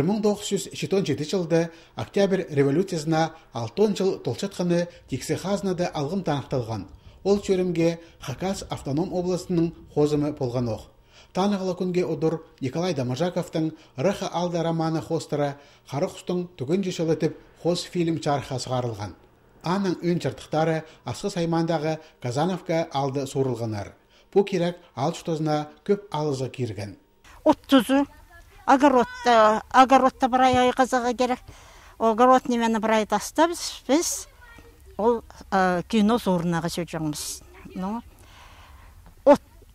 1917 жылды Октябрь революциясына 6 жыл толчатқаны тексе хазнады алғым танықталған. Ол чөрімге Хакас автоном обласының хозымы болған оқ. Танығылы күнге ұдыр Николай Дамажаковтың «Рыха алда» романы хостары Қарықұстың түгін жешілітіп хоз фильм чарыға сығарылған. Аның өн чыртықтары асқы саймандағы Казановка алды сорылғанар. Бұл керек алшытозына көп алызы керген. Оттузу, огородта бір ай қазаға керек. Огород немені бір ай тастабыз, біз ол кино сорынаға сөйдіңіз.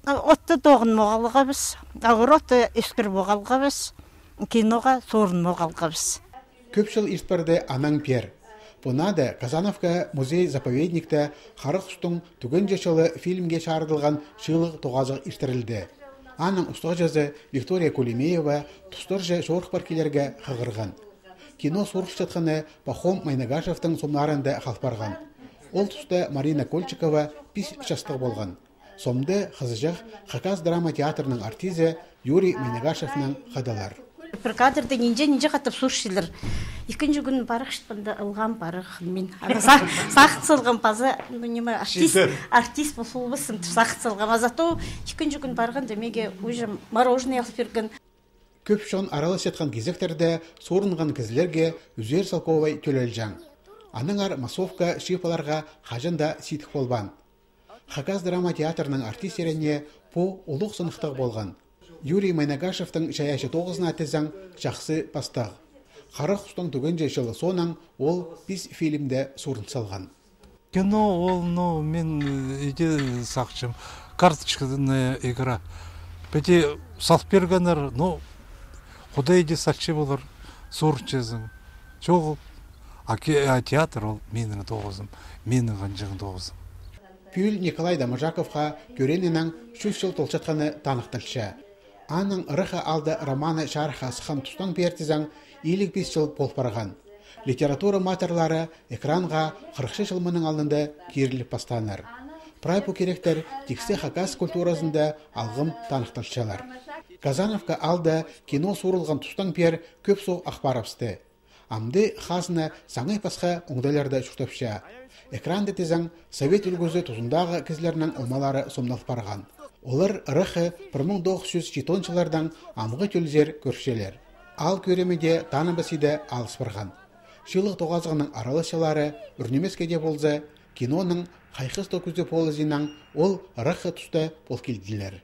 Отты тоғын моғалғабыз, огородты ескір моғалғабыз, киноға сорын моғалғабыз. Көп жыл испірді анаң пер. Бұнады Казановка музей-заповедникті Қарықұстың түгін жешілі фильмге шарыдылған шылық тоғазық іштірілді. Аның ұстық жазы Виктория Кулемеева тұстыр жа жорық паркелерге қығырған. Кино сорық жатқаны Пахом Майнагашевтың сомнарында қалпарған. Ол тұста Марина Кольчикова пис шастық болған. Сомды қызыжақ Хакас драма театрының артизі Юрий Майнагашевның қадалар. Бір кадрды нинже қатып сұршылыр. Екінші күн барық шытпында ұлған барық. Мен сақыт сылған пазы, артист бұл бісім сақыт сылған. Азато екінші күн барған демеге уже мороженое алып берген. Көп шон аралас жатқан кезектерде сорынған кізілерге Үзер Салковай төлелжан. Аныңар массовка шипаларға қажында ситік болбан. Хакас драма театрының артистеріне по ұлық сынықтық болған. Юрий Майнагашевтың шаяшы тоғызына тезің жақсы пастағы. Қарықұстың түгін жешілі сонан ол біз фильмде сорын салған. Кино ол, мен иде сақчым. Карточкадан игра. Бәте салып бергенер, құдай иде сақчы болыр, сорын чезім. Жоғы, театр ол менің тоғызым, менің ғанжығын тоғызым. Пүл Николай Дамажаковқа көренінен 3 жыл толчатқаны танықтылшы. Аның «Рыха алды» романы шарыға сыған тұстан бертізің 55 жыл болып барған. Литература матерлары экранға 40 жыл мұның алынды керіліп бастаныр. Прайпу керектер тексе Хакас культурасында алғым танықтылшылар. Казановка алды кино сорылған тұстан бер көп соқ ақпарапсты. Амды хазына саңай пасқа оңдайларды шүртіпші. Экранды тезің совет үлгізі тұзындағы кізлерінің омалары сомналық барған. Олар Рыхы 1907 жылардан амғы төлзер көршелер. Ал көремеде таныбасыды алыс барған. Шылық тоғазығының аралышылары үрнемескеде болзы, киноның қайқыз токүзді полызынан ол Рыхы тұсты бол келділер.